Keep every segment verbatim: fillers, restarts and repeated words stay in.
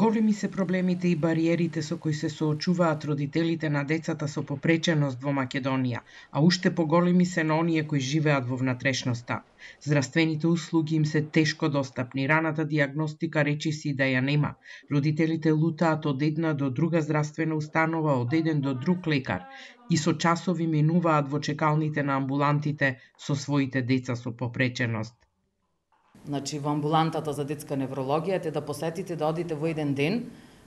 Големи се проблемите и бариерите со кои се соочуваат родителите на децата со попреченост во Македонија, а уште поголеми се на оние кои живеат во внатрешноста. Здравствените услуги им се тешко достапни, раната диагностика речиси да ја нема. Родителите лутаат од една до друга здравствена установа, од еден до друг лекар и со часови минуваат во чекалните на амбулантите со своите деца со попреченост. Значи, во амбулантата за детска неврологија те да посетите, да одите во еден ден,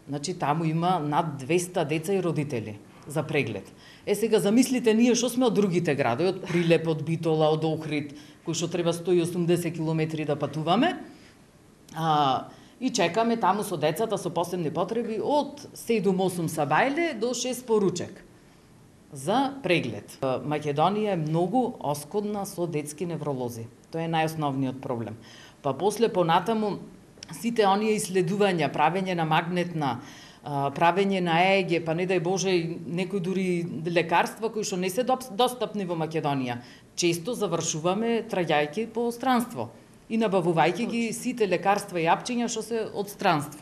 значи таму има над двеста деца и родители за преглед. Е сега замислите ние што сме од другите градови, од Прилеп, од Битола, од Охрид, кои што треба сто и осумдесет километри да патуваме, а, и чекаме таму со децата со посебни потреби од седум-осум сабајле до шест поручек за преглед. Македонија е многу оскудна со детски невролози. Тоа е најосновниот проблем. Па после понатаму сите оние исследувања, правење на магнетна, правење на Е Е Ге, па не дај Боже некои дури лекарства кои што не се достапни во Македонија, често завршуваме траѓајќи по странство и набавувајќи ги сите лекарства и апчиња што се од странство.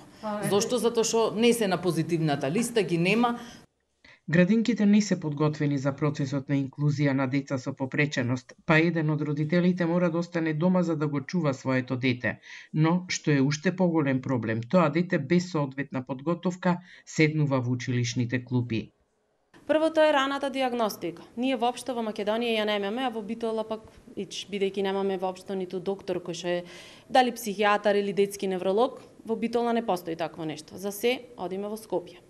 Зошто? Затоа што не се на позитивната листа, ги нема. Градинките не се подготвени за процесот на инклузија на деца со попреченост, па еден од родителите мора да остане дома за да го чува своето дете. Но, што е уште поголем проблем, тоа дете без соодветна подготовка седнува во училишните клупи. Првото е раната диагностика. Ние воопшто во Македонија ја немаме, а во Битола пак, ич, бидејќи немаме воопшто ниту доктор кој што е дали психијатар или детски невролог, во Битола не постои такво нешто. За се одиме во Скопје.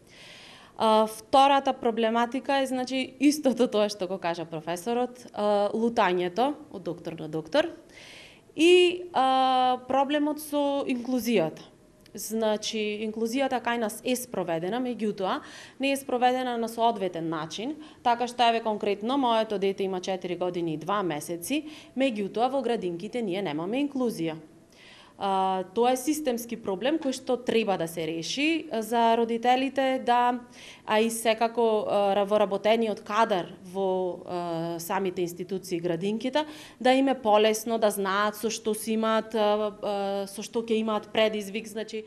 Uh, втората проблематика е, значи, истото тоа што го кажа професорот, uh, лутањето од доктор на доктор и uh, проблемот со инклузијата. Значи, инклузијата кај нас е спроведена, меѓутоа не е спроведена на соодветен начин, така што еве конкретно моето дете има четири години и два месеци, меѓутоа во градинките ние немаме инклузија. Uh, тоа е системски проблем кој што треба да се реши за родителите, да, а и секако uh, во работениот кадар во uh, самите институции градинките, да им е полесно да знаат со што си имаат, uh, uh, со што ќе имаат предизвик, значи.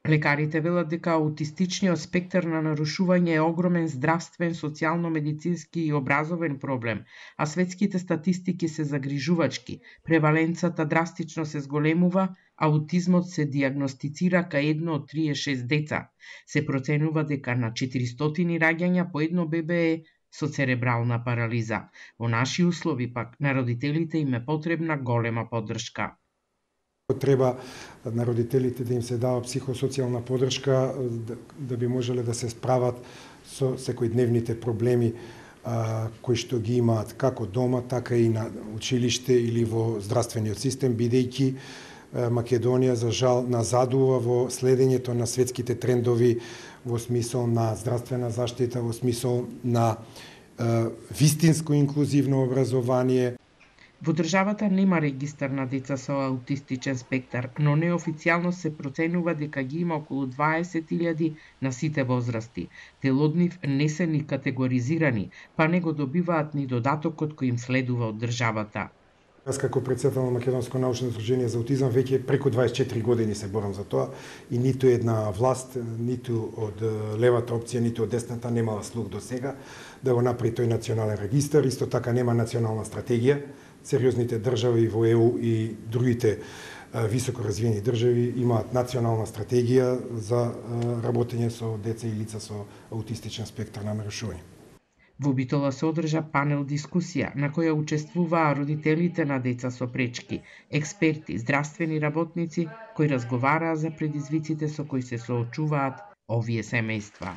Лекарите велат дека аутистичниот спектар на нарушување е огромен здравствен, социјално-медицински и образовен проблем, а светските статистики се загрижувачки. Преваленцата драстично се зголемува, аутизмот се диагностицира кај едно од тридесет и шест деца. Се проценува дека на четиристотини раѓања по едно бебе е со церебрална парализа. Во наши услови пак на родителите им е потребна голема поддршка. Треба на родителите да им се дава психосоцијална поддршка да, да би можеле да се справат со секојдневните проблеми а, кои што ги имаат како дома, така и на училиште или во здравствениот систем, бидејќи Македонија за жал назадува во следењето на светските трендови во смисол на здравствена заштита, во смисол на а, вистинско инклузивно образование. Во државата нема регистар на деца со аутистичен спектар, но неофицијално се проценува дека ги има околу дваесет илјади на сите возрасти. Дел од нив не се ни категоризирани, па не го добиваат ни додатокот кој им следува од државата. Јас како председател на Македонско научно здружение за аутизам веќе преку дваесет и четири години се борам за тоа и ниту една власт, ниту од левата опција, ниту од десната немала слух до сега да го направи тој национален регистар. Исто така нема национална стратегија. Сериозните држави во Е У и другите високо развиени држави имаат национална стратегија за работење со деца и лица со аутистичен спектар на нарушување. Во Битола се одржа панел дискусија на која учествуваа родителите на деца со пречки, експерти, здравствени работници кои разговараа за предизвиците со кои се соочуваат овие семејства.